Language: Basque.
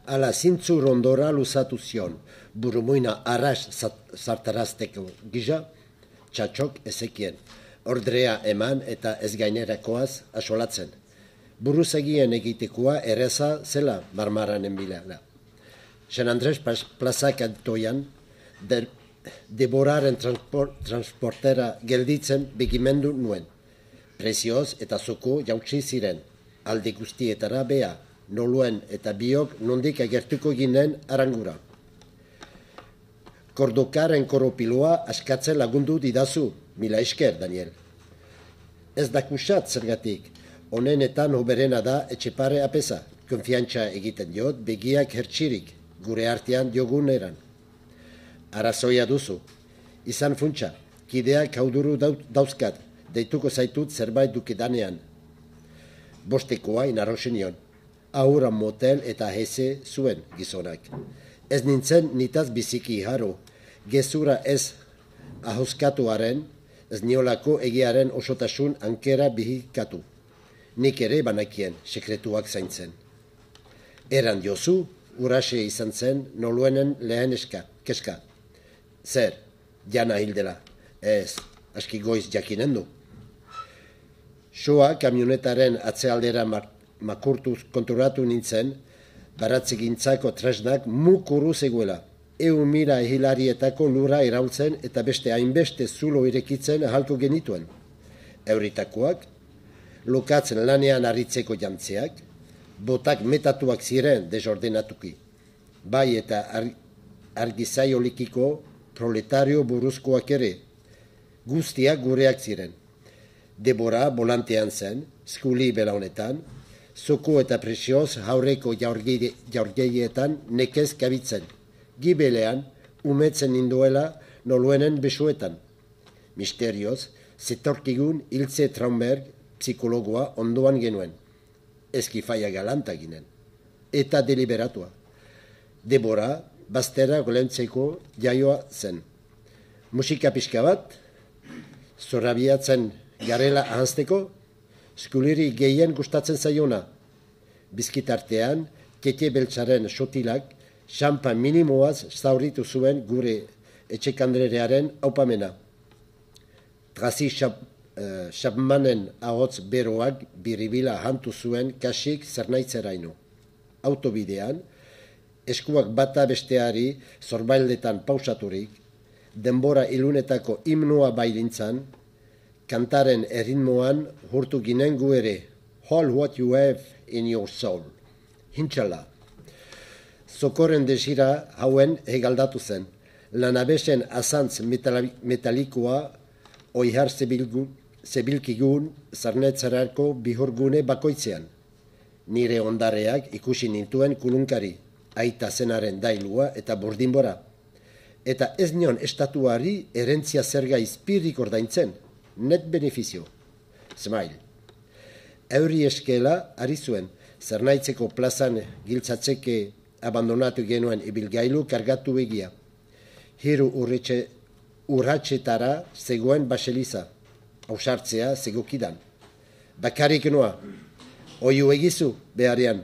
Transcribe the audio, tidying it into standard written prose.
ala zintzu rondora luzatu zion, burumuina arras zartarazteko gisa, txatxok ezekien, ordrea eman eta ez gainerakoaz asolatzen. Buruzagien egitekoa erreza zela Marmaranen bilala. San Andres plazak antoian, Deboraren transportera gelditzen begimendu nuen. Prezioz eta zoko jautsi ziren, alde guztietara bea, noluen eta biok nondik agertuko ginen arangura. Kordokaren koropiloa askatzen lagundu didazu, mila esker, Daniel. Ez dakusat zergatik, honenetan hoberena da etxepare apesa, konfiantza egiten diot begiak hertsirik, gure artean diogun eran. Arazoia duzu, izan funtsa, kideak hauduru dauzkat, deituko zaitut zerbait dukedanean. Bostekoa inarroxenion, aurra motel eta heze zuen gizonak. Ez nintzen nitaz biziki haro, gezura ez ahoskatuaren, ez niolako egiaren osotasun ankera bihikatu. Nik ere banakien sekretuak zaintzen. Eran diozu, urase izan zen noluenen lehen keska. Zer, jana hildela, ez, aski goiz jakinen du. Soa kamionetaren atzealdera makurtuz konturatu nintzen, baratzegintzako tresnak mukuru zegoela. Mira hilarietako lura iraultzen eta beste hainbeste zulo irekitzen ahalko genituen. Euritakoak, lokatzen lanean aritzeko jantzeak, botak metatuak ziren desordenatuki. Bai eta argizaiolikiko proletario buruzkoak ere, guztiak gureak ziren. Debora volantean zen, skuli belaunetan, zoko eta presioz haurreko jaurgeietan nekez kabitzen. Gibelean, umetzen ninduela noluenen besuetan. Misterioz, zetorkigun Ilse Traunberg psikologoa ondoan genuen. Eskifaia galanta ginen. Eta deliberatua. Debora, baztera golentzeko jaioa zen. Musika pixka bat, zorabiatzen garela ahanzteko, skuliri gehien gustatzen zaiona. Bizkitartean, kete beltzaren sotilak, xampa minimoaz zauritu zuen gure etxekandrerearen aupamena. Trazi Chapmanen ahots beroak biribila hantu zuen kasik zernaitzeraino. Autobidean, eskuak bata besteari zorbaildetan pausaturik, denbora ilunetako himnoa bailintzan, kantaren erritmoan hurtu ginen gu ere, all what you have in your soul. Hintxala. Zokorren desira hauen hegaldatu zen. Lanabesen azantz metalikoa oihar zebilkigun zarnetzarako bihurgune bakoitzean. Nire ondareak ikusi nintuen kulunkari, aita zenaren dailua eta burdinbora. Eta ez nion estatuari erentzia zerga izpirrik ordaintzen, net benefizio. Smile. Euri eskela ari zuen, zernaitzeko plazan giltzatzeke abandonatu genuen ibilgailu kargatu egia. Hiru urratxetara zegoen baseliza, ausartzea zegokidan. Bakarik noa, oiu egizu beharean.